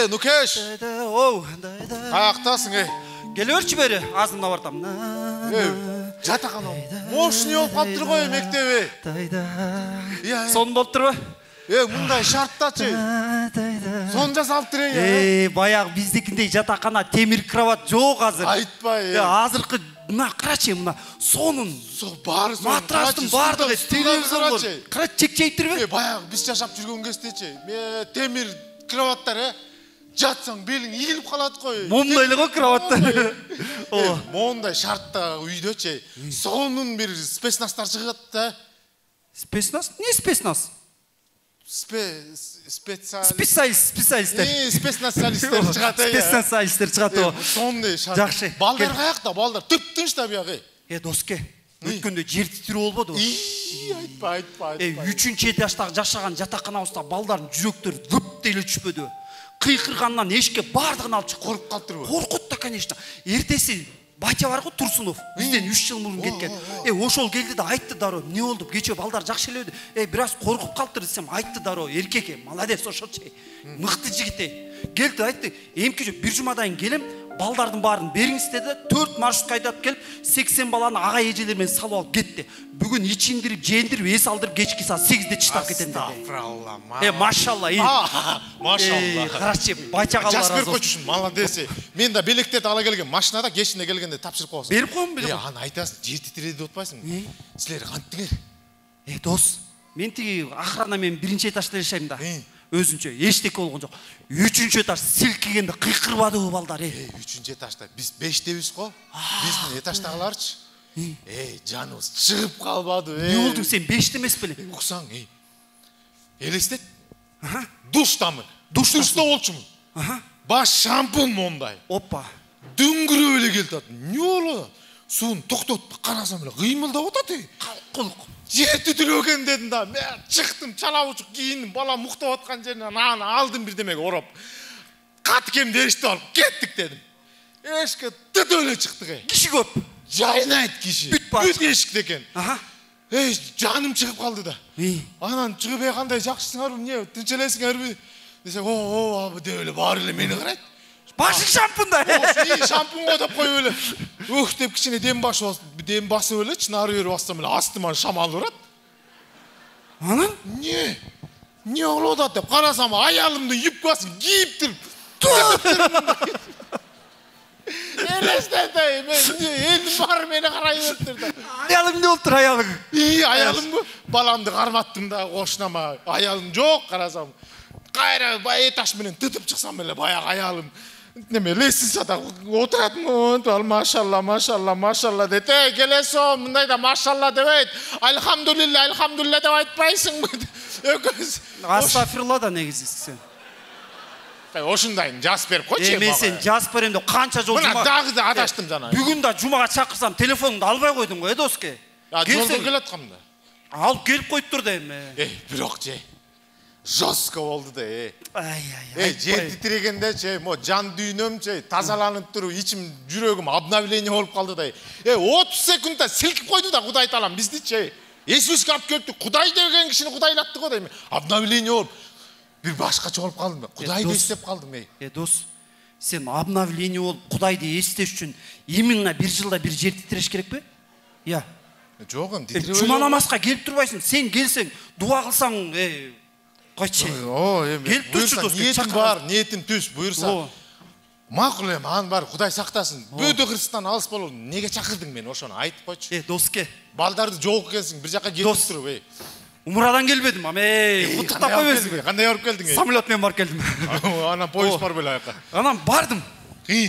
Нукеш. Каяктасың, Келиверчи бери, азымда бартам. Жатакана. Мошни болуп калыптыр го мектеби. Сон болуптурбу? Мындай шарттачы. Сон жасалыптыр Баягы биздикиндей жатакана темир кровать жок азыр. Айтпай. Азыркы мына карачы, мына сонун. Баары сон. Матрастын баардыгы телевизор. Карачы чекчейттирби? Баягы биз жашап жүргөн кездечи. Темир кроваттар, жатсаң белиң ийилип калат го. Момундай эле го кроваттар. Мондай шартта үйдөчү. Сонун бир спецнастар чыгат да. Спецназ? Не спецназ? Специалисттер чыгат. Спецназалисттер чыгат. Сондай шарт. Жакшы. Балдар каякта, балдар тып-тыныч да биягы. Доске, өткөндө жер титирүү болбодубу? Айтпа. 3-чү этаждагы жашаган жатаканабызда балдардын жүрөктөрү лып деле түшпөдү. Кыйкыргандан эшикке бардыгын алып чыгып Коркуп калыптырбы? Коркут да, конечно. Эртеси батя бар го, Турсунов. Бизден 3 жыл мурун кеткен. Ошол келди да айтты дароо. Эмне болду? Кечээ балдар жакшы элеби? Бир аз коркуп калыптыр десем, айтты дароо. Эркек, молодец, ошочу. Мыкты жигит. Келди айтты, эмки бир жумадан келем, балдардын баарын бериңиз деди. 4 маршрутка айдап келип, 80 баланы ага эжелер менен салып алып кетти. Бүгүн ичиндирип, жеендирип, эс алдырып кечки саат 8де чыштап кетем деди. Машалла. Машалла. Карачы, батяга Жасбер койчусун, молодец. Мен да белектерди ала келген, машинада кечинде келгенде тапшырып коесуң. Берип коем, Аны айтасың, жер титиреди деп атпайсың. Силер кантиңер? Дос, мен тиги охрана менен 1-чи этажда жашайм да. Өзүнчө эчтеке болгон жок. 3-чү этаж силкигенде кыйкырбадыбы балдар? 3-чү этажда биз 5тебиз го. Биздин этаждагыларчы. Жаныбыз чыгып калбады. Не болду, сен 5те эмес беле? Уксаң, элестет. Душтамын. Душта болчумун. Баш шампунь мондай. Опа. Дүңгүрөп эле келди. Не болду? Суун токтотуп карасам эле кыймылдап атат. Кулк. Жер титиреген дедим да. Мен чыктым, чалабучук кийиндим, балам уктап аткан жеринен аны алдым бирдемеге ороп. Катыкемди эриштип алып кеттик дедим. Эшикке тыт эле чыктык. Киши көп. Жайнайт киши. Бүт эшикте экен. Жаным чыгып калды да. Анан чыгып кандай жакшысыңарбы, эмне, тынч элесиңерби? Десек, деп эле баары эле мени карайт. Башың шампунда. Шампунго деп коюп эле. Деп кичине дем басып элечи, нары бери бассам эле астыман шамал турат. Анан? Не болуп атат деп карасам, аялымдын юбкасын кийиптир. Элестетейм, элдин баары мени карай бериптир да. Аялым эмне болуптур, аялың? Аялымбы? Баламды карматтым да, кошунама. Аялым жок, карасам. Кайра этаж менен тытып чыксам эле баягы аялым. Неме лестницада отуратмын, машалла дейт. Келесо, мындайда машалла дебейт. Альхамдулилля деп айтпайсыңбы? Астафирулла да негизи сен. Ошундайын жас берип койчу. Мен сен жас берем деп канча жол жума. Мына дагы да адаштым жана. Бүгүн да жумага чакырсам телефонумду албай койдум го, Доске. Жолдо келаткамда. Алып келип коюптур да эми. Бирок жестко болду да. Жер титирегенде мо жан дүйнөм тазаланып туруп, ичим жүрөгүм обновление болуп калды да. 30 секундда силкип койду да Кудай таалам бизди. Иисуска алып келиптир. Кудай деген кишини кудайлатты го дейм. Обновление болуп бир башкача болуп калдым. Кудайды эстеп калдым. Дос, сен обновление болуп Кудайды эстеш үчүн именно 1 жылда бир жер титиреш керекпи? Жок, титиребей. Жума намазга келип турбайсың. Сен келсең, дуа кылсаң, койчу. Келип турчу Дос. Ниетим бар, ниетим түз, буйрса. Макул эми, анын баары Кудай сактасын. Бөөдө Христтан алыс болуп, неге чакырдың мен ошону айтып койчу. Доске. Балдарды жолго келсиң, бир жака келип туруп, Умрадан келбедим, куттуктап койбойсуңбу? Кандай барып келдиң? Самолет менен барып келдим. Анан поезд бар беле аяка. Анан бардым.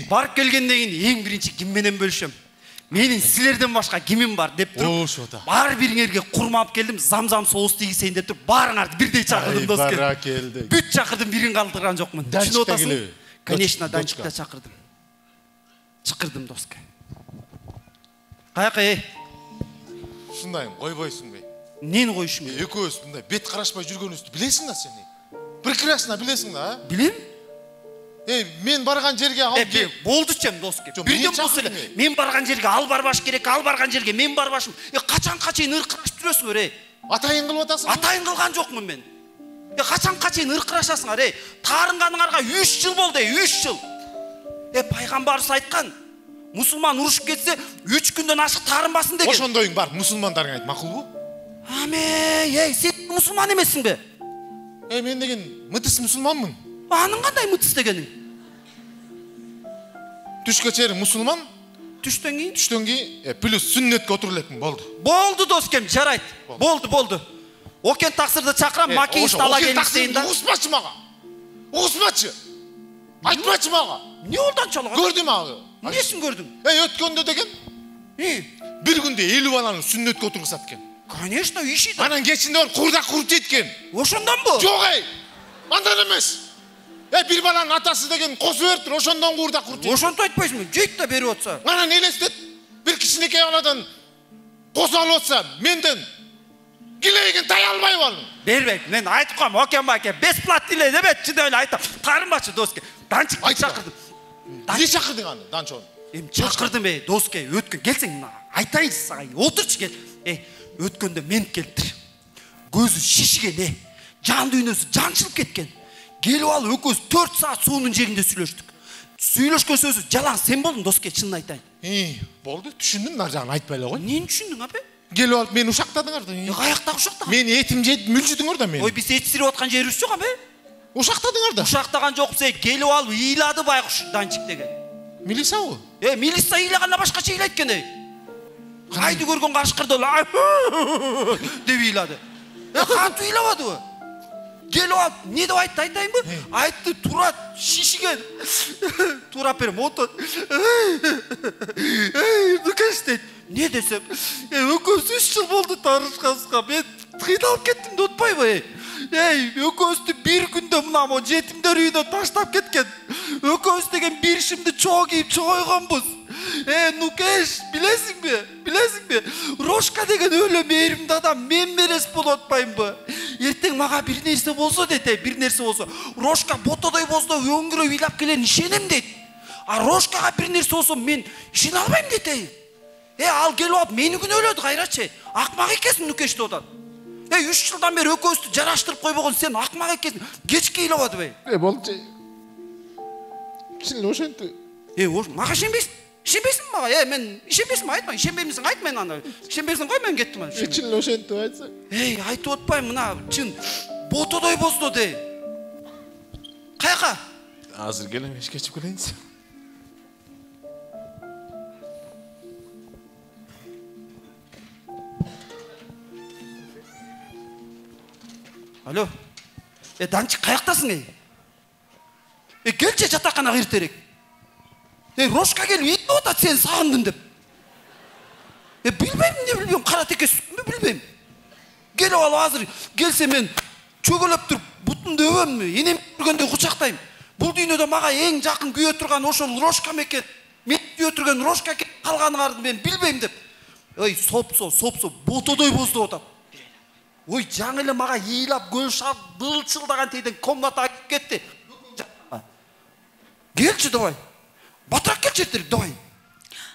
Барып келгенден кийин эң биринчи ким менен бөлүшөм? Менин силерден башка кимим бар деп туруп, баары бириңерге курма алып келдим, замзам соус тийгизейин деп туруп, баарыңарды бирдей чакырдым, Доске. Баракелди. Бүт чакырдым, бирин калтырган жокмун. Түшүнүп атасың? Конечно, Данчикта чакырдым. Чакырдым, Доске. Каяка, Ушундайын койбойсуңбу? Нени коюшум керек? Экөөбүз мындай бет карашпай жүргөнүбүздү билесиң да сен. Прекрасно билесиң да, Билем? Мен барган жерге ал кел. Болду чем, Доске. Бирден болсо эле. Мен барган жерге ал барбаш керек, ал барган жерге мен барбашым. Качанга чейин ыркырашып жүрөсүңөр, Атайын кылып атасың? Атайын кылган жокмун мен. Качанга чейин ыркырашасыңар, таарынганыңарга 3 жыл болду, 3 жыл. Пайгамбарыбыз айткан, мусулман урушуп кетсе 3 күндөн ашык таарынбасын деген. Ошондойуң бар, мусулмандарга айт, макулбу? Сен мусулман эмессиңби? Мен деген мытыс мусулманмын. Анын кандай мытыс дегениң? Түшкө чейин мусулман, Түштөн кийин плюс сүннөткө отуруп элекмин, болду. Болду доскем, жарайт. Болду. Окен таксырды чакырам, макинист ала келиштейин да. Угуспачы мага. Угуспачы. Айтпачы мага. Не болду анчалык? Көрдүм ага. Эмнесин көрдүң? Өткөндө деген бир күндө 50 баланы сүннөткө отургузат экен. Конечно, иши да. Анан кечинде курдак куруп жеткен. Ошондонбу? Жок, андан эмес. Бир баланын атасы деген косуп бериптир, ошондон курдак куруп жеткен. Ошонтип айтпайсыңбы? Жейт да берип атса. Анан элестет, бир кичинекей баладан косуп алып атса, менден килейген тай албайбы ал? Бербейт. Мен айтып коем, Окен байке, бесплатно иле дебет, чын эле айтам. Карынбачы доске. Данчыкты чакырдым. Эмне чакырдың аны, Данчону? Чакырдым, доске, өткөн келсең, айтайын сага. Отурчу кел. Өткөндө мен келиптир. Көзү шишиген, жан дүйнөсү жанчылып кеткен. Келип алып экөөбүз 4 саат суунун жегинде сүйлөштүк. Сүйлөшкөн сөзү жалаң сен болдуң доске, чынын айтайын. Болду, түшүндүм, нар жагын айтпай эле кой. Эмнени түшүндүң, апа? Келип алып мени ушактадыңар да. Каяктагы ушактаган? Мени этим жеп мүлжүдүңөр да мени. Ой, биз эт сирип аткан жерибиз жок, апа. Ушактадыңар да. Ушактаган жокпуз, келип алып ыйлады байкуш Данчик деген. Милисабы? Милиса ыйлаганда башкача ыйлайт экен. Айды көргөн кашкырды деп ыйлады. Кантип ыйлабадыбы? Келип алып, не деп айтты, айтайынбы? Айтты, турат, шишиген. Турап берем, отот. Нукеш дейт. Не десем? Экөөбүз 3 жыл болду таарышканыбызга. Мен кыйналып кеттим деп атпайбы? Экөөбүздү бир күндө мына мо жетимдер үйүнө таштап кеткен. Экөөбүз деген бир ишимди чоо кийип чогойгонбуз. Нукеш, билесиңби? Рошка деген өлө мээримдүү адам мен мерес болуп атпаймынбы? Эртең мага бир нерсе болсо дейт, бир нерсе болсо, Рошка ботодой боздо өңгүрөп ыйлап келерин ишенем дейт. А Рошкага бир нерсе болсо мен ишене албайм дейт. Ал келип алып мени күнөөлөдү кайрачы. Акмак экенсиң Нукеш деп атат. 3 жылдан бери экөөбүздү жараштырып койбогон сен акмак экенсиң. Кечке ыйлабадыбы? Болчу. Чын ошентип. Мага ишенбейсиңби мага? Мен ишенбейсиңби айтма, ишенбеймисиң айт мен аны. Ишенбейсиң кой, мен кеттим аны. Чын ошентип айтсаң. Айтып атпайм, мына чын ботодой бозду де. Каяка? Азыр келем, кечип келейинчи. Алло. Данчик каяктасың? Келчи жатаканага иртерек. Рошка келип үйдө атат, сен сагындым деп. Билбейм, эмне билбейм, кара текесизби билбейм. Келип алып азыр келсе мен чөгөлөп туруп бутумду өбөмбү, энем көргөндө кучактайм. Бул дүйнөдө мага эң жакын күйө турган ошол Рошка мекен. Мен күйө турган Рошка калганыңарды мен билбейм деп. Сопсо, ботодой бозду атат. Жаңы эле мага ыйлап көл шап былчылдаган тийден комната айтып кетти. Келчи давай. Батыраак келчи эртерээк давай.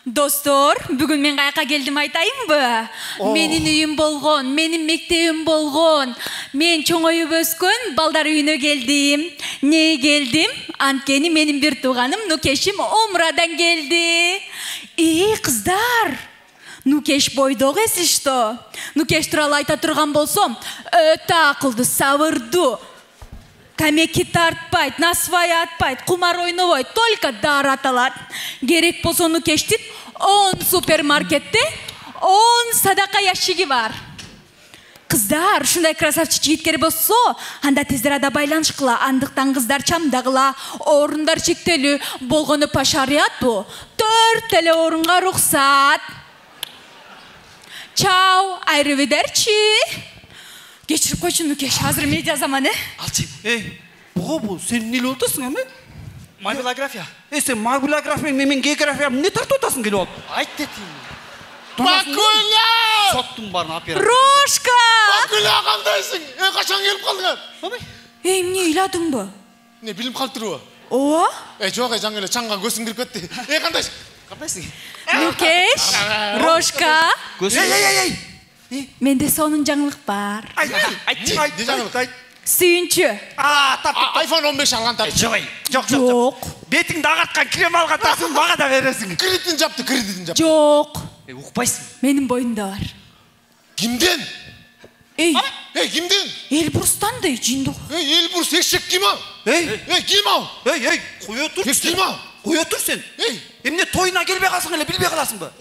Достор, бүгүн мен каяка келдим айтайынбы? Менин үйүм болгон, менин мектебим болгон. Мен чоңоюп өскөн балдар үйүнө келдим. Не келдим? Анткени менин бир тууганым Нукешим Умрадан келди. Кыздар, Нукеш бойдок эсиш что? Нукеш тууралуу айта турган болсом, өтө акылдуу, сабырдуу. Камеки тартпайт, насвай атпайт, кумар ойнобойт, только дары аталат. Керек болсо Нукештин 10 супермаркетте 10 садака ящиги бар. Кыздар, ушундай красавчик жигиткер болсо, анда тез арада байланышкыла, андыктан кыздар чамдагыла, орундар чектелүү, болгону по шариату 4 эле орунга уруксат. Чао, айрывидерчи. Кечирип койчу Нукеш, азыр медиа заманы. Алчы. Буга бул сен эмне эле отосуң, эме? Мобилография. Сен мобилография менен география эмне тартып атасың келип алып? Айт детим. Макуля! Соттун барын оператор. Рошка! Макуля кандайсың? Качан келип калдыңар? Эмне ыйладыңбы? Не билим калыптырбы? Ооба? Жок, жаңы эле чаңга көзүң кирип кетти. Кандайсың? Капайсың? Нукеш, Рошка. Эй! Менде сонун жаңылык бар. Айт. Сүйүнчү. iPhone 15 алган тап. Жок. Бетиңди агарткан крем алгантасың, мага да бересиң. Кредитин жапты. Жок. Укпайсың. Менин боюмда бар. Кимден? Кимден? Элбурстан да жиндок. Элбурс эшек ким ал? Ким ал? Кое тур. Ким ал? Кое тур сен. Эмне тоюна келбей калсаң эле билбей каласыңбы?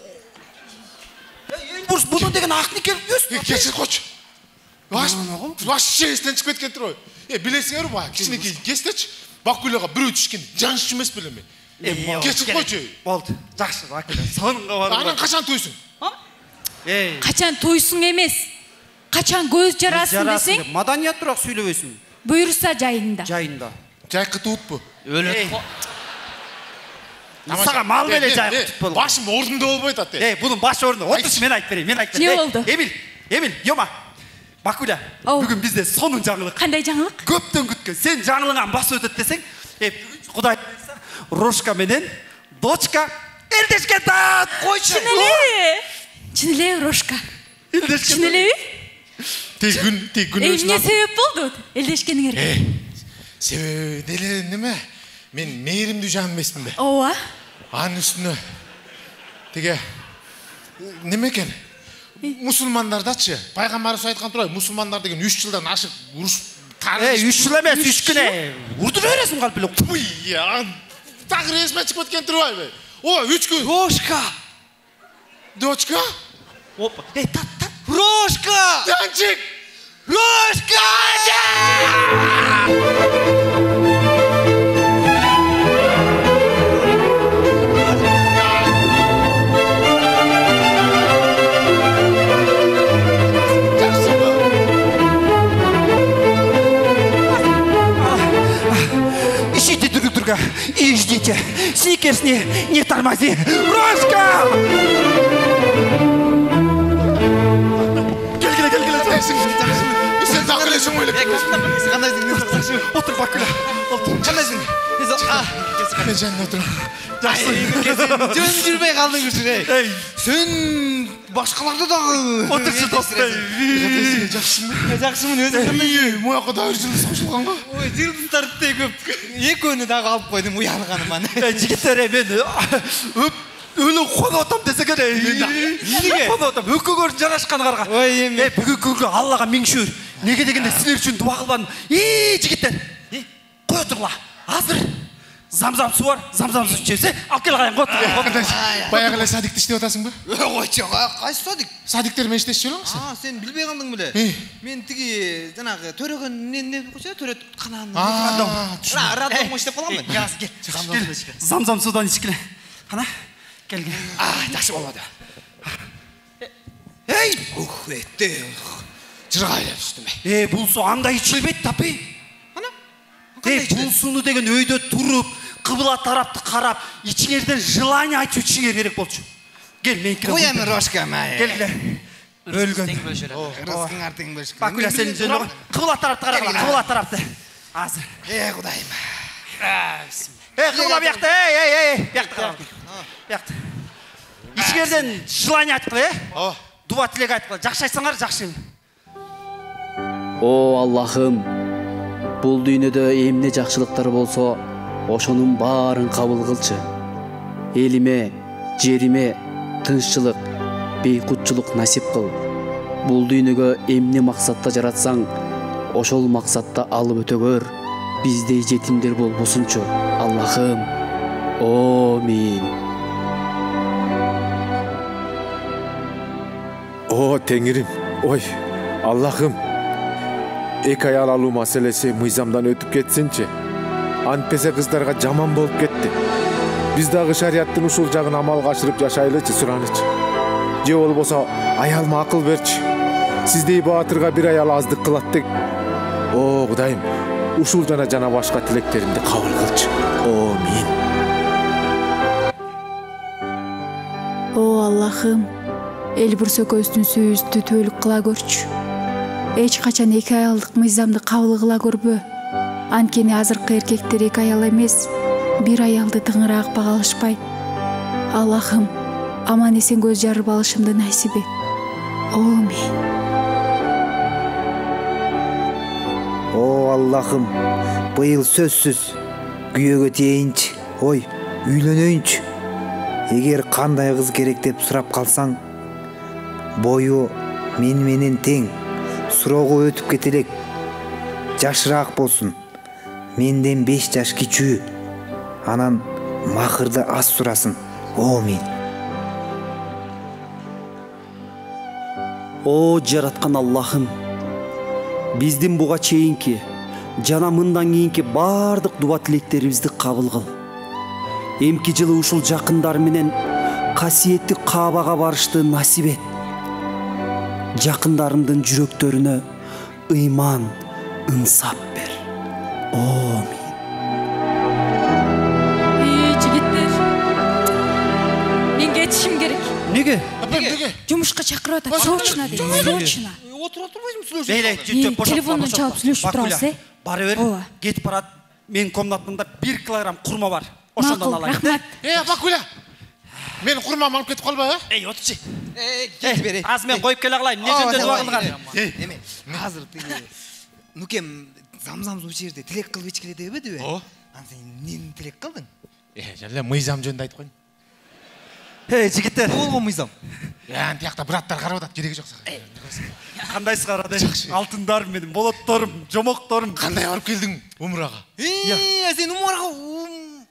Элбурс буну деген акник келбес. Кечир койчу. Вообще эстен чыгып кеткен тур. Билесиңерби баа, кичинекей кестечи. Бакулага бирөө түшкөн жаныш эмес белем. Кечир койчу. Болду. Жакшы, Бакуля. Сонунга бар. Анан качан тойсуң? Качан тойсуң эмес. Качан көз жарасың десең? Маданият турак сүйлөбөйсүң. Буйруса жайында. Жайкы туутпу? Өлөт. Сага мал беле жайкы туут болду. Башым ордунда болбойт ат. Бунун баш ордунда. Отур, мен айтып берейин. Не болду? Эмил, Йома. Бакуля, бүгүн бизде сонун жаңылык. Кандай жаңылык? Көптөн күткөн. Сен жаңылыган басып өтөт десең, Кудай Рошка менен дочка элдешкен тат. Койчу. Чын эле Рошка. Элдешкен. Чын элеби? Тек күн Эмне себеп болду элдешкениңерге? Себеби деле неме? Мен мээримдүү жан эмесмин да. Ооба. Анын үстүнө теге неме экен? Мусулмандардачы, пайгамбарыбыз айткан турбайбы, мусулмандар деген 3 жылдан ашык уруш 3 жыл эмес, 3 күн. Урдура бересиң калп эле. Тагыр эсиме чыгып кеткен турбайбы? 3 күн. Рошка. Дочка? Опа. Тат. Рошка! Жанчик! Рошка! Ищите друг друга и ждите. Сникерс, не тормози. Рошка! Сен такылесиң ойлоп. Кандайсың? Отур, Бакуля. Кандайсың? Мен жанына отурам. Жөн жүрбөй калдыңыз. Сен башкаларды дагы. Отурчу достой. Жакшымын, өзүң кандай? Мояка да жылдыз кошулганга. Ой, жылдыздар көп. Экөөнү дагы алып койдум, уялганым. Жигиттер, мен өлүп коно отам десең эмне? Коно отам, өкөгөр жарашкан карга. Ой, эми. Бүгүнкү күнгө Аллага миң шүгүр. Неге дегенде силер үчүн дуа кылбадым. Жигиттер. Кой отурла. Азыр замзам суу бар, замзам суу ичебиз. Алып кел кайын, отур. Баягы эле садикти иштеп атасыңбы? Койчу, кайсы садик? Садиктер менен иштешчү белеңби? Сен билбей калдың беле? Мен тиги жанагы төрөгөн эмне койчу, төрөт канааны. Радиомо иштеп калгам мен. Замзам суудан ичкиле. Кана? Келген. Жакшы болбоду. Этте. Жыргайлап түштүм. Бул суу андай ичилбейт тапы. Ана? Бул сууну деген өйдө туруп, кыбла тарапты карап, ичиңерден желание айтып ичиңер керек болчу. Кел, меникине. Коям Рошка, Келгиле. Өлгөн. Рызкыңар тең бөлүшкөн. Бакуля, сен жөн кыбла тарапты карагыла, кыбла тарапты. Азыр. Кудайым. Кыбла биякта, биякта. Биякта. Ичиңерден желание айткыла, дуа тилек айткыла. Жакшы айтсаңар, жакшы. О Аллахым, бул дүйнөдө эмне жакшылыктар болсо, ошонун баарын кабыл кылчы. Элиме, жериме тынччылык, бейкутчулук насип кыл. Бул дүйнөгө эмне максатта жаратсаң, ошол максатта алып өтөгөр. Биздей жетимдер болбосунчу. Аллахым. Амин. О, Теңирим, ой, Аллахым. Эки аял алуу маселеси мыйзамдан өтүп кетсинчи. Антпесе кыздарга жаман болуп кетти. Биз дагы шариаттын ушул жагын амалга ашырып жашайлычы, суранычы. Же болбосо аялыма акыл берчи. Сиздей баатырга бир аял аздык кылат дег. О, Кудайым, ушул жана башка тилектеримди кабыл кылчы. Амин. О Аллахым, Элбурс экөөбүздүн сүйүүбүздү түбөлүк кыла көрчү. Эч качан эки аялдык мыйзамды кабыл кыла көрбө. Анткени азыркы эркектер эки аял эмес, бир аялды тыңыраак бага алышпайт. Аллахым, аман эсен көз жарып алышымды насип эт. Амин. О Аллахым, быйыл сөзсүз күйөөгө тиейинчи, үйлөнөйүнчү. Эгер кандай кыз керек деп сурап калсаң, бою мен менен тең, суроого өтүп кете элек, жашыраак болсун, менден 5 жаш кичүү, анан махырды аз сурасын. Амин. О жараткан Аллахым, биздин буга чейинки жана мындан кийинки баардык дуба тилектерибизди кабыл кыл. Эмки жылы ушул жакындар менен касиеттүү Каабага барышты насип эт. Жакындарымдын жүрөктөрүнө ыйман, ынсап бер. Амин. Жигиттер, мен кетишим керек. Неге? Жумушка чакырып атат. Срочно дейт. Срочно. Отура турбайсың сүйлөшүп. Бейле, Телефондон чалып сүйлөшүп турабыз, Бара бер. Кетип барат. Менин комнатамда 1 килограмм курма бар. Макул, рахмат. Бакуля. Мен курмамды алып кетип калбай, Отурчу. Кет бер. Азыр мен коюп келе калайын. Эмне жөндөдүп агылган? Эме, азыр тиги нукем замзам суу ичерде тилек кылып ичкиле дебедиби? Ансен эмнени тилек кылдың? Жана мыйзам жөнүндө айтып коюн. Жигиттер. Болгон мыйзам. Антиякта браттар карап атат, кереги жок. Кандайсыз карады? Алтындарым менин, болотторум, жомокторум. Кандай барып келдиң умрага? Сен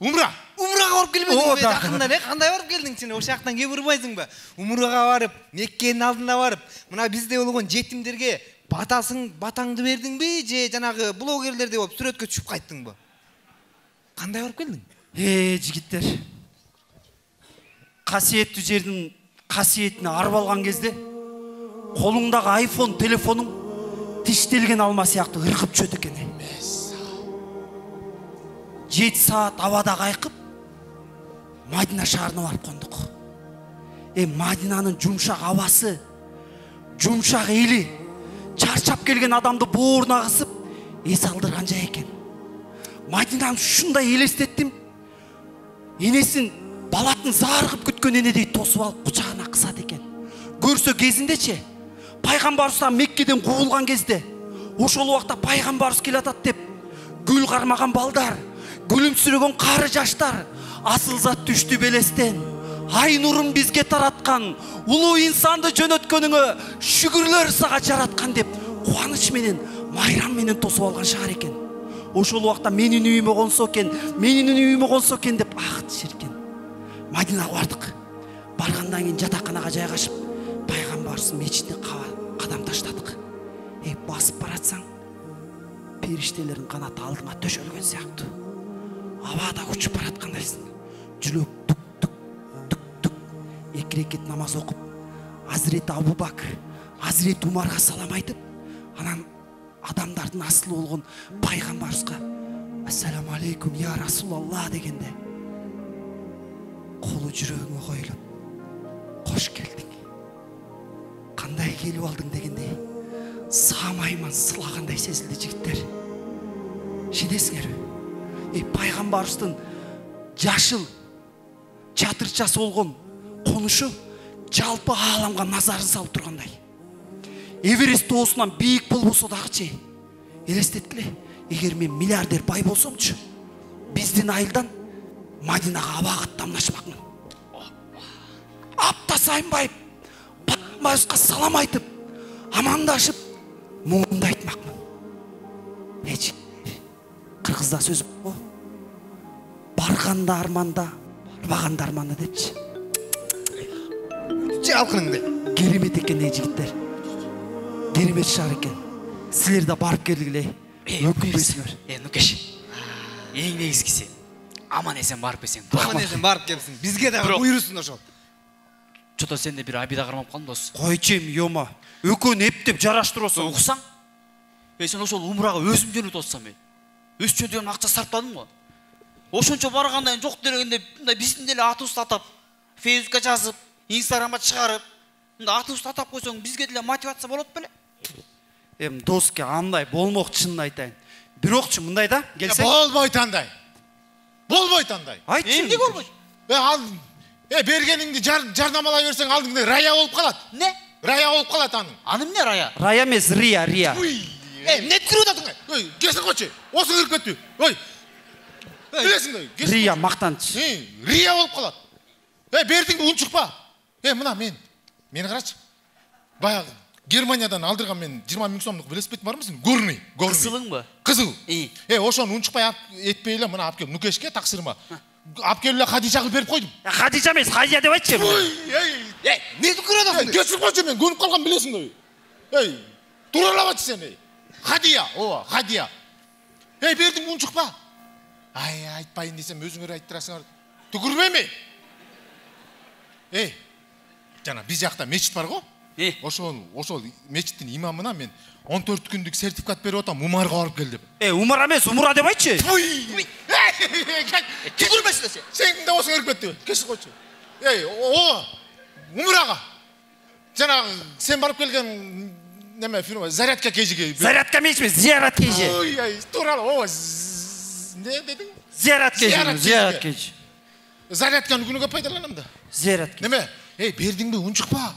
Умрага барып келбедиңби? Жакында кандай барып келдиң сен? Ошол жактан кеп урбайсыңбы? Умрага барып, Меккенин алдына барып, мына бизде болгон жетимдерге батаңды бердиңби же жанагы блогерлердей болуп сүрөткө түшүп кайттыңбы? Кандай барып келдиң? Жигиттер. Касиеттүү жердин касиетине арып алган кезде колуңдагы айфон телефонуң тиштелген алма сыяктуу ыркып чөт экен. 7 саат абада кайкып Мадина шаарына барып кондук. Мадинанын жумшак абасы, жумшак эли, чарчап келген адамды бооруна кысып эс алдырган жай экен. Мадинаны ушундай элестеттим. Энесин балатын зааргып күткөн энедей тосуп алып кучагына кысат экен. Көрсө кезиндечи пайгамбарыбыздан Меккеден куулган кезде ошол убакта пайгамбарыбыз келатат деп гүл кармаган балдар, күлүмсүрөгөн кары жаштар асыл зат түштү белестен. Ай нурун бизге тараткан, улуу инсанды жөнөткөнүңө шүгүрлөр сага жараткан деп кубаныч менен, майрам менен тосуп алган шаар экен. Ошол убакта менин үйүмө консо экен деп акыт ширкен. Мадинага бардык. Баргандан кийин жатаканага жайгашып, пайгамбарыбыздын мечитине кадам таштадык. Басып баратсаң, периштелердин канаты алдыңа төшөлгөн сыяктуу. Абада учуп бараткандайсың. Жүрөк тук. 2 рекет намаз окуп, Азирети Абу Бакр, Азирети Умарга салам айтып, анан адамдардын асылы болгон пайгамбарыбызга ассаламу алейкум я Расулалла дегенде колу жүрөгүңө коюлуп, кош келдиң. Кандай келип алдың дегендей, саамайман сылагандай сезилди жигиттер. Шенесиңерби? Пайгамбарыбыздын жашыл чатырчасы болгон конушу жалпы ааламга назарын салып тургандай. Эверест тоосунан бийик болбосо дагычы элестеткиле, эгер мен миллиардер бай болсомчу, биздин айылдан Мадинага абага аттанашмакмын. Апта сайын байып, пайгамбарыбызга салам айтып, амандашып, муңумду айтмакмын. Кыргызда сөз бар. Барганда арманда, барбаганда арманда депчи. Алкыныңды. Керемет экен жигиттер. Керемет шаар экен. Силер да барып келгиле. Өкүнбөйсүңөр. Нукеш. Эң негизгиси аман эсен барып келсең. Аман эсен барып келсиң. Бизге да буйрусун ошол. Чото сенде бир абида кармап калдым дос. Койчу эми ёма. Өкөн эптеп жараштыросуң. Уксаң? Сен ошол умрага өзүм жөнүп отсам мен. Өз чөндөгөн акча сарптадым го. Ошончо баргандан жок дегенде мындай биздин деле атыбызды атап, Фейсбукка жазып, Инстаграмга чыгарып, мындай атыбызды атап койсоң бизге деле мотивация болот беле? Доске андай болмок, чынын айтайын. Бирокчу мындай да, келсең. Болбойт андай. Болбойт андай. Айтчы. Эмне болбойт? Бергениңди жарнамалай берсең алдыңда рая болуп калат. Не? Рая болуп калат анын. Аны эмне Рая? Рая эмес, Рия. Эмне кырып атасың? Ой, кесип койчу. Осу кирип кетти. Ой. Билесиңби? Рия мактанч. Рия болуп калат. Бердиңби унчукпа. Мына мени карачы. Баягы Германиядан алдырган мен 20 000 сомдук велосипед барбы сен? Горный. Кызылыңбы? Кызыл. Ошону унчукпай этпей эле мына алып кел Нукешке таксырма. Алып келип эле Хадижага берип койдум. Хадижа эмес, Хадижа деп айтчы. Не кырып атасың? Кесип койчу мен көнүп калган билесиңби? Туралабачы сени. Хадия, ооба, Хадия. Бердиңби унчукпа. Айтпайын десем өзүңөр айттырасыңар. Түкүрбөймү? Жана биз жакта мечит бар го? Ошол мечиттин имамына мен 14 күндүк сертификат берип атам, Умарга барып кел деп. Умар эмес, Умура деп айтчы. Түкүрбөсүн сен. Сен да осуң кирип кетти. Кесип койчу. Умурага. Жанагы сен барып келген неме фирма зарядка кежиге. Зарядка эмес, зиярат кежи. Тууралуу. Не дедиң? Зиярат кежи. Зарядканы күнүгө пайдаланам да. Зиярат. Неме? Бердиңби унчукпа.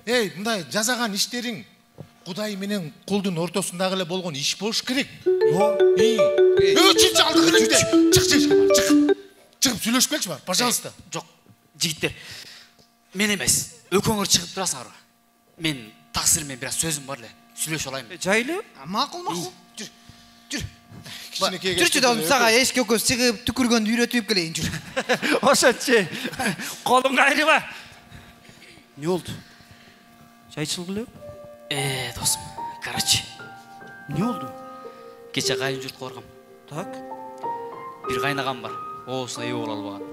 Мындай жасаган иштериң Кудай менен кулдун ортосундагы эле болгон иш болуш керек. Чык алдыгы. Чыгып сүйлөшүп келчи бар, пожалуйста. Жок, жигиттер. Мен эмес, экөөңөр чыгып турасыңарбы? Мен таксир менен бир аз сөзүм бар эле. Сүйлөшө алайын. Жайлы? Макул. Жүр. Кичинекей. Жүрчү да сага эшикке экөөбүз чыгып түкүргөндү үйрөтүп келейин, жүр. Ошончу. Колуң кайрыба. Не болду? Чай ичилгиле? Досум, короче. Не болду? Кече кайын журтка баргам. Так. Бир кайнагам бар. Оосуна ээ боло албаган.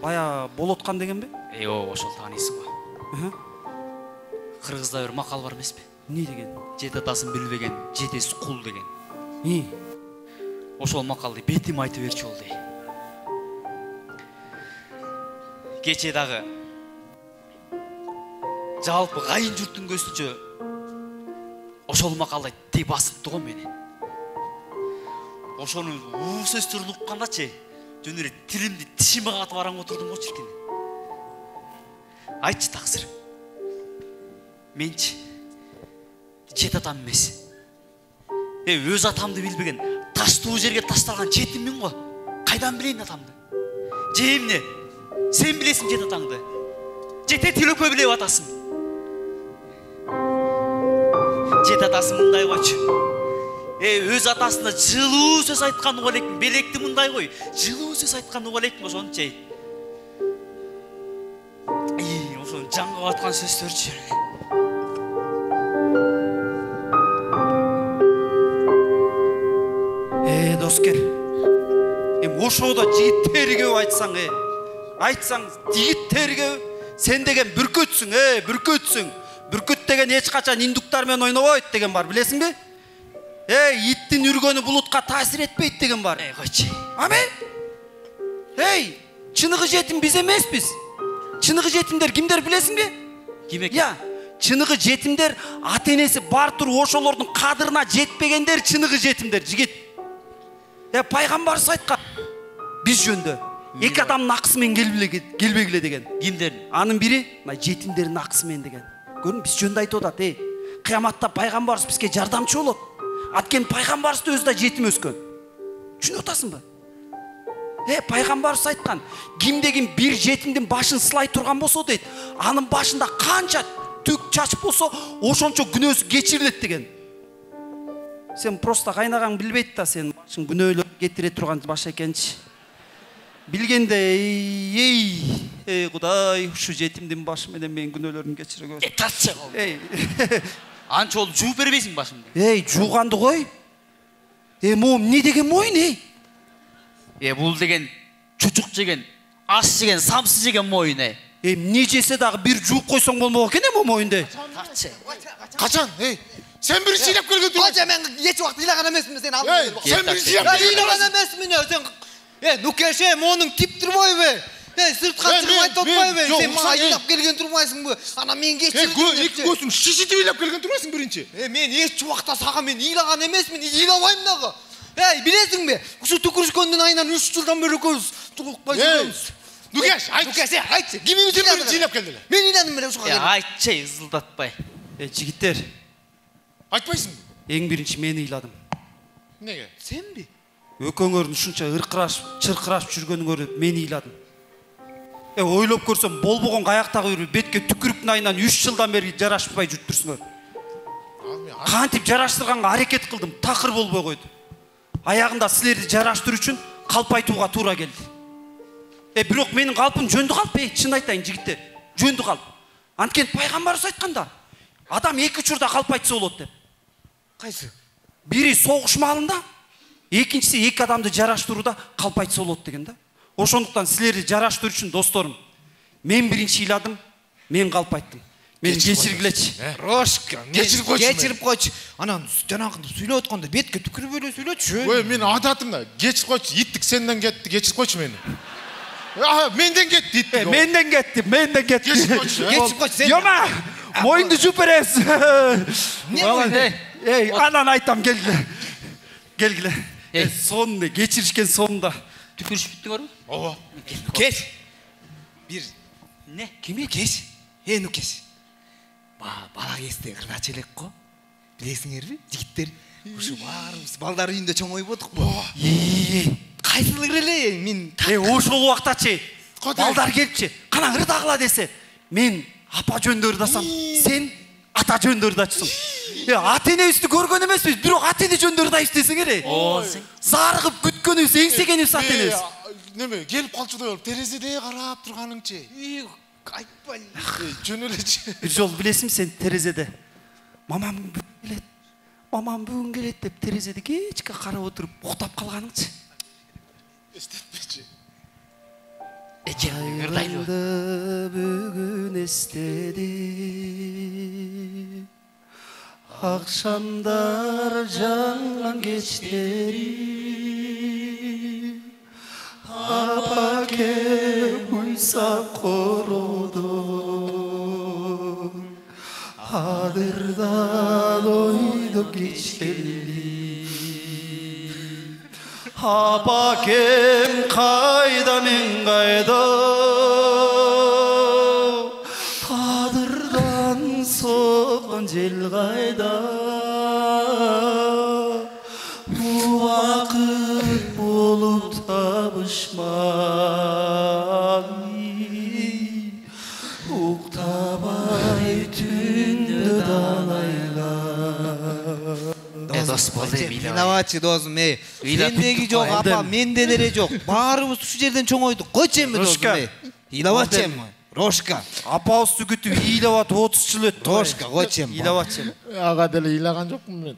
Бая болоткан дегенби? Ооба, ошол тааныйсың го. Кыргызда бир макал бар эмеспи? Не деген? Жет атасын билбеген, жетеси кул деген. Ошол макалды бетим айтып берчү болду. Кече дагы жалпы кайын журттун көзүнчө ошол макалды тээ басыптты го мени. Ошону сөздөрүн уккандачы, жөн эле тилимди тишиме катып араң отурдум го чиркин. Айтчы таксыр. Менчи жет атам эмес. Өз атамды билбеген, таштуу жерге ташталган жетиммин го. Кайдан билейин атамды? Же эмне? Сен билесиң жет атаңды. Жете тилөкө билеп атасың. Жет атасы мындай койчу. Өз атасына жылуу сөз айткан уга элекмин. Белекти мындай кой. Жылуу сөз айткан уга элекмин ошончо. Ошон жанга баткан сөздөрчү. Доскер. Ошодо жигиттерге айтсаң, жигиттерге сен деген бүркөтсүң, бүркөтсүң. Бүркөт деген эч качан индуктар менен ойнобойт деген бар, билесиңби? Иттин үргөнү булутка таасир этпейт деген бар. Койчу. Аме? Чыныгы жетим биз эмеспиз. Чыныгы жетимдер кимдер билесиңби? Ким экен? Чыныгы жетимдер ата-энеси бар туруп ошолордун кадырына жетпегендер чыныгы жетимдер, жигит. Пайгамбарыбыз айткан биз жөндө эки адамдын акысы менен келбегиле деген. Кимдер? Анын бири жетимдердин акысы менен деген. Көрүн, биз жөндө айтып атат, кыяматта пайгамбарыбыз бизге жардамчы болот. Анткени пайгамбарыбыз да өзү да жетим өскөн. Түшүнүп атасыңбы? Пайгамбарыбыз айткан, кимде-ким бир жетимдин башын сылай турган болсо дейт, анын башында канча түк чач болсо, ошончо күнөөсү кечирилет деген. Сен просто кайнагаң билбейт да, сен башың күнөөлөр кетире турган баш экенчи. Билгенде, Кудай, ушу жетимдин башы менен менин күнөөлөрүмдү кечире көрсүн. Татчы кол. Анча болуп жууп бербейсиң башымды? Жууганды кой. Моом не деген моюн, бул деген чучук жеген, аш жеген, самсы жеген моюн, эмне жесе дагы бир жууп койсоң болмок экен, моюнду. Татчы. Качан? Сен бир ыйлап келген турсуң. Качан мен эч убакта ыйлаган эмесмин, сен алдың. Сен бир ыйлап ыйлаган эмесмин, сен Нукеше, монуң тип турбойбу? Сыртка чыгып айтып атпайбы? Сен мага ыйлап келген турбайсыңбы? Ана мен кечирим. Эки көзүң шишитип ыйлап келген турбайсың биринчи. Мен эч убакта сага мен ыйлаган эмесмин, ыйлабайм дагы. Билесиңби? Ушу түкүрүшкөндүн айынан 3 жылдан бери экөөбүз тулукпай жүрөбүз. Нукеш, айтчы. Нукеш, айтчы. Ким жыйлап келди эле? Мен ыйладым эле ушуга келип. Айтчы, ызылдатпай. Жигиттер, Айтпайсыңбы? эң биринчи мен ыйладым. Неге? Сенби? Экөөңөрдүн ушунча ыркырашып, чыркырашып жүргөнүңөрдү мен ыйладым. Ойлоп көрсөм, болбогон каяктагы бир бетке түкүрүктүн айынан 3 жылдан бери жарашпай жүрүп турсуңөр. Кантип жараштырганга аракет кылдым, такыр болбой койду. Аягында силерди жараштыруу үчүн калп айтууга туура келди. Бирок менин калпым жөндү калп, чын айтайын жигиттер, жөндү калп. Анткени пайгамбарыбыз айтканда, адам 2 учурда калп айтса болот деп. Кайсы? Бири согуш маалында, экинчиси 2 адамды жараштырууда калп айтса болот деген да. Ошондуктан силерди жараштыруу үчүн досторум, мен биринчи ыйладым, мен калп айттым. Мен кечиргилечи. Рошка, кечирип койчу. Кечирип койчу. Анан жанагынды сүйлөп атканда бетке түкүрүп эле сүйлөчү. Ой, мен адатым да. Кечирип койчу. Иттик сенден кетти, кечирип койчу мени. Менден кетти иттик. Менден кетти. Кечирип койчу. Кечирип койчу сен. Жома, моюңду жууп беребиз. Не? Анан айтам, келгиле. Сонун кечиришкен сонунда. Түкүрүшүп бүттүңөрбү? Ооба. Кеш. Бир. Не? Киме кеш? Нукеш. Бала кезде ыргач элек го. Билесиңерби? Жигиттер, ушу баарыбыз балдар үйүндө чоңойбодукпу. Кайсылыр эле мен Ошол убактачы балдар келипчи, кана ырдагыла десе, мен апа жөнүндө ырдасам, сен ата жөнүндө ырдачысың. Ата энебизди көргөн эмеспиз, бирок ата эне жөнүндө ырдайбыз десеңер. Зарыгып күткөнүбүз, эңсегенибиз ата энебиз. Неме, келип калчудай болуп, терезеде карап турганыңчы. айтпай. Жөн элечи. Бир жолу билесиңби сен терезеде мамам бүгүн келет деп терезеде кечке карап отуруп уктап калганыңчы. Эстетпечи. Ырдайлы бүгүн эстеди. Акшамдар жанган кечтери. Апаке уйса кородо. Адырдан ойдоп кечтели. Апакем кайда мен кайда. Адырдан соккон жел кайда. Убакыт болуп табышмай. Уктабай түндө далайла. Дос бол деп ыйлабачы досум, сендеги жок, апа менде деле жок. Баарыбыз ушул жерден чоңойдук. Койчу эми досум, ыйлабачы эми. Рошка. Апабыз түгүтүп ыйлап атып 30 жыл өттү. Рошка, койчу эми. Ыйлабачы эми. Ага деле ыйлаган жокмун мен.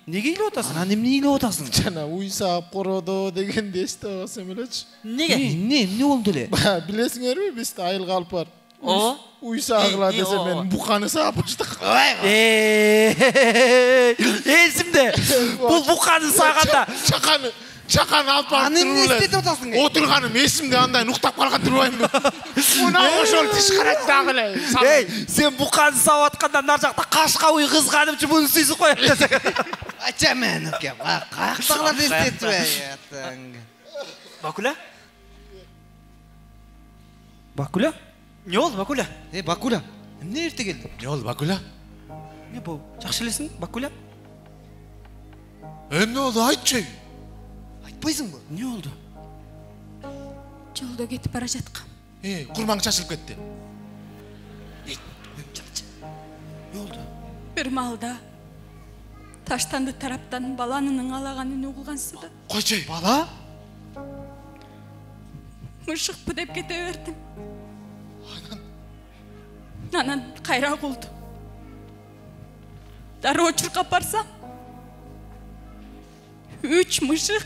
Неге ыйлап атасың? Анан эмне ыйлап атасың? Жана уйсап кородо дегенди эстеп алсам элечи. Неге? Эмне болду эле? Билесиңерби, бизде айыл калп бар. Ооба. Уйсагыла десе мен буканы саап баштак. Эсимде. Бул буканы саганда чаканы алып барып эмне эстетип атасың? Отурганым эсимде, андай уктап калган турбаймынбы? Мына ошол тишкарат дагы эле. Сен буканы саап атканда нар жакта кашка уй кызганымчы муну сүйсүп коет десең. Ача мен ке, каяктагыларды эстетип. Бакуля? Бакуля? Не болду, Бакуля? Бакуля, эмне эрте келдиң? Не болду, Бакуля? Не болду? Жакшы элесиң, Бакуля? Эмне болду, айтчы. Айтпайсыңбы? Не болду? Жолдо кетип бара жаткам. Курмаң чачылып кетти. Не болду? Бир маалда таштанды тараптан баланын ыңалаганын угулгансыда. Койчу. Бала? Мышыкпы деп кете бердим. Анан кайра кулду. Дароо чуркап барсам, 3 мышык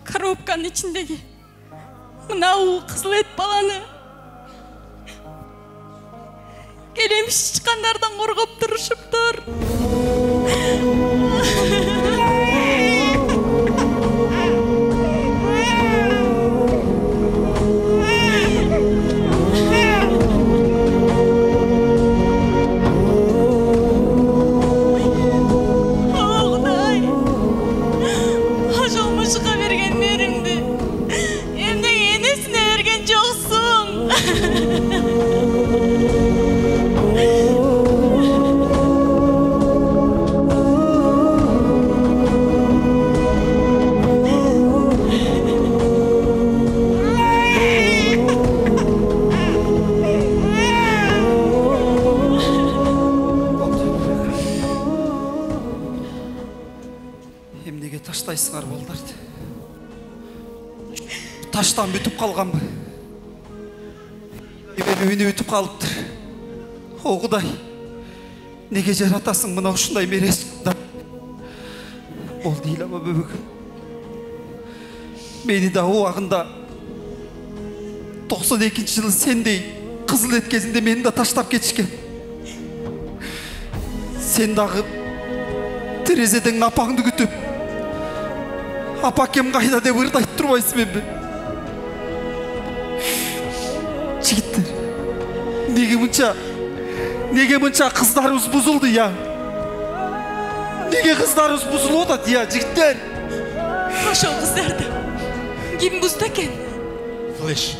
коробканын ичиндеги мынау кызыл эт баланы келемиш чыккандардан коргоп турушуптур. таштайсыңар балдарды. Таштан бүтүп калганбы? Үйүнү бүтүп калыптыр. О Кудай, неге жаратасың мына ушундай мерез? Болду ыйлама бөбөгүм. Мени да убагында 92-жылы сендей кызыл эт кезинде мени да таштап кетишкен. Сен дагы терезеден апаңды күтүп, апакем кайда деп ырдайт турбайсың эмби? Жигиттер, неге мынча кыздарыбыз бузулду я? Неге кыздарыбыз бузулуп атат я, жигиттер? Ошол кыздарды ким бузду экен? Флеш.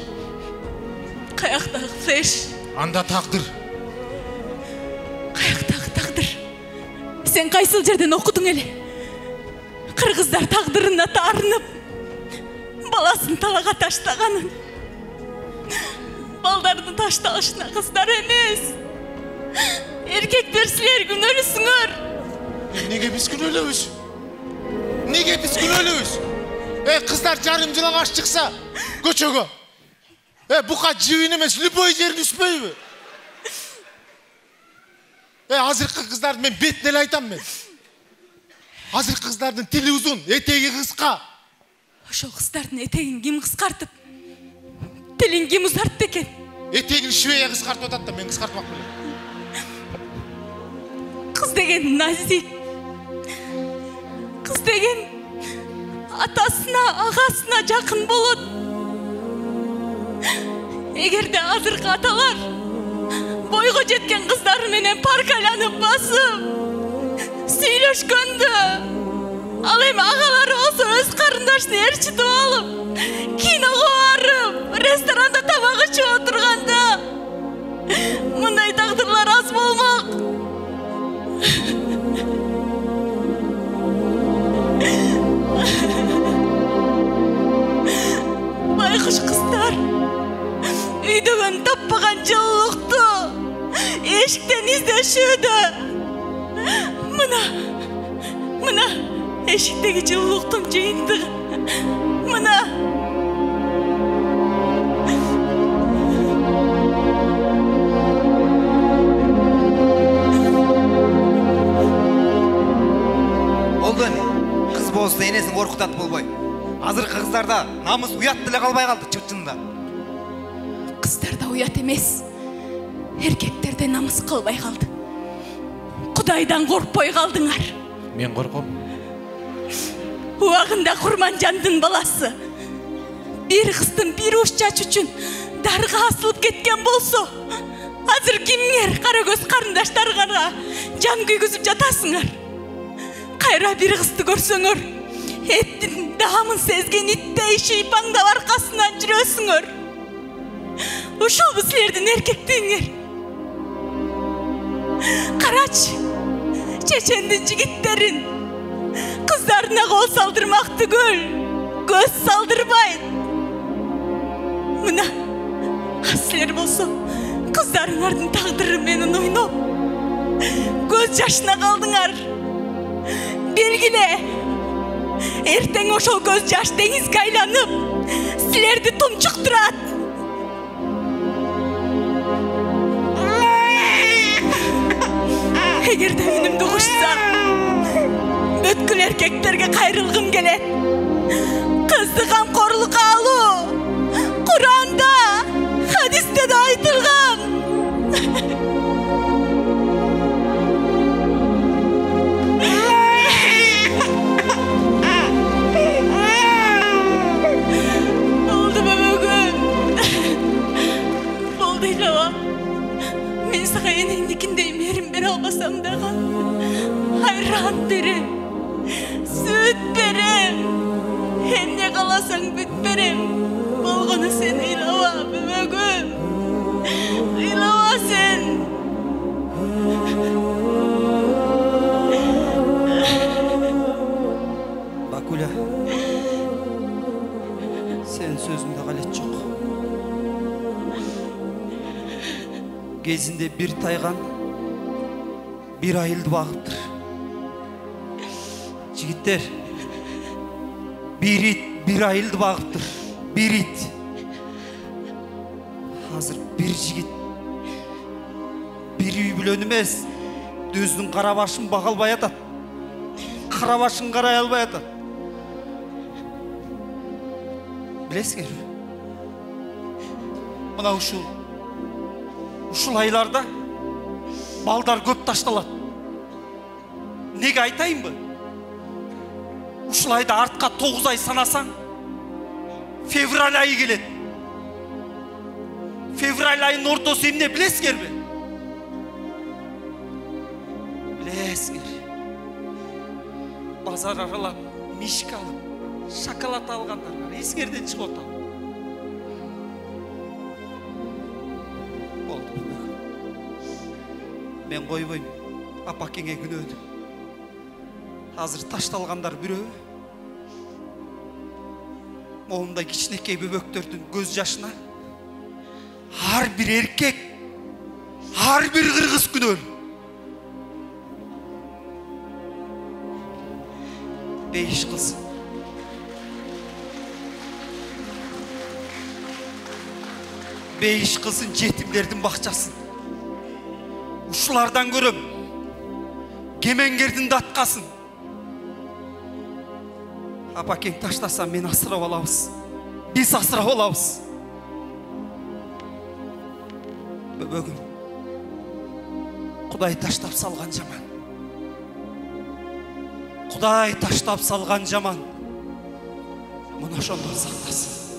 Каяктагы Флеш? Анда тагдыр. Каяктагы тагдыр? Сен кайсыл жерден окудуң эле? Кыргыздар тагдырына таарынып, баласын талага таштаганын. Балдардын ташталышына кыздар эмес, эркектер силер күнөөлүсүңөр. Неге биз күнөөлөбүз? Неге биз күнөөлөбүз? Кыздар жарым жылаңаш чыкса көчөгө. Бука жибин эмес, любой жерин үспөйбү? Азыркы кыздардын мен бетине эле айтам мен. Азыркы кыздардын тили узун, этеги кыска. Ошол кыздардын этегин ким кыскартып? Тилин ким узартты экен? Этегин швея кыскартып атат да мен кыскартмак белем. Кыз деген назик. Кыз деген атасына, агасына жакын болот. Эгерде азыркы аталар бойго жеткен кыздар менен парк айланып басып сүйлөшкөндө, ал эми агалары болсо өз карындашын ээрчитип алып, киного барып, ресторанда тамак ичип отурганда мындай тагдырлар аз болмок. Байкуш кыздар үйдөгөн таппаган жылуулукту эшиктен издешүүдө. Мына эшиктеги жылуулуктун жыйынтыгы. Мына болду эми. Кыз болсо энесин коркутат болбой. Азыркы кыздарда намыс, уят деле калбай калды чынында. Кыздарда уят эмес, эркектерде намыс калбай калды. Кудайдан коркпой калдыңар. Мен корком. Убагында Курманжандын баласы бир кыздын бир уч чач үчүн дарга асылып кеткен болсо, азыр кимиңер кара көз карындаштарга жан күйгүзүп жатасыңар? Кайра бир кызды көрсөңөр, эттин даамын сезген иттей шыйпаңдап аркасынан жүрөсүңөр. Ушулбу силердин эркектигиңер? Карачы, чечендин жигиттерин кыздарына кол салдырмак түгүл, көз салдырбайт. Мына, силер болсо кыздарыңардын тагдыры менен ойноп, көз жашына калдыңар. Белгиле, эртең ошол көз жаш деңизге айланып, силерди тумчуктурат. Эгерде үнүмдү кушсам, бүткүл эркектерге кайрылгым келет. Кызды камкорлукка алуу Куранда, хадисте да айтылган. Болду бөбөгүм. Болду ыйлаба. Мен сага энеңдикиндей мээрим бере албасам дагы айран берем, сүт берем, эмне кааласаң бүт берем. Болгону сен ыйлаба бөбөгүм, ыйлаба сен. Бакуля, сен сөзүңдө калет жок. Кезинде бир тайган, бир айылды багыптыр. Жигиттер, бир ит бир айылды багыптыр. Бир ит. Азыр бир жигит бир үй бүлөнү эмес, өзүнүн кара башын бага албай атат. Кара башын карай албай атат. Билесиңерби? Мына ушул айларда балдар көп ташталат. Неге айтайынбы? Ушул айда артка 9 ай санасаң, февраль айы келет. Февраль айынын ортосу эмне билесиңерби? Билесиңер. Базар аралап, мишка алып, шоколад алгандар бар. Эсиңерден чыгып атат. Болду. Мен койбойм. Апакеңе күнөөдү. Азыр ташталгандар бирөө. Моундай кичинекей бөбөктөрдүн көз жашына ар бир эркек, ар бир кыргыз күнөөлүү. Бейиш кылсын. Бейиш кылсын жетимдердин бакчасын. Ушулардан көрөм кемеңгердин даткасын. Апакең таштаса мен асырап алабыз. Биз асырап алабыз. Бөбөгүм, Кудай таштап салган жаман. Кудай таштап салган жаман. Мына ошондон сактасын.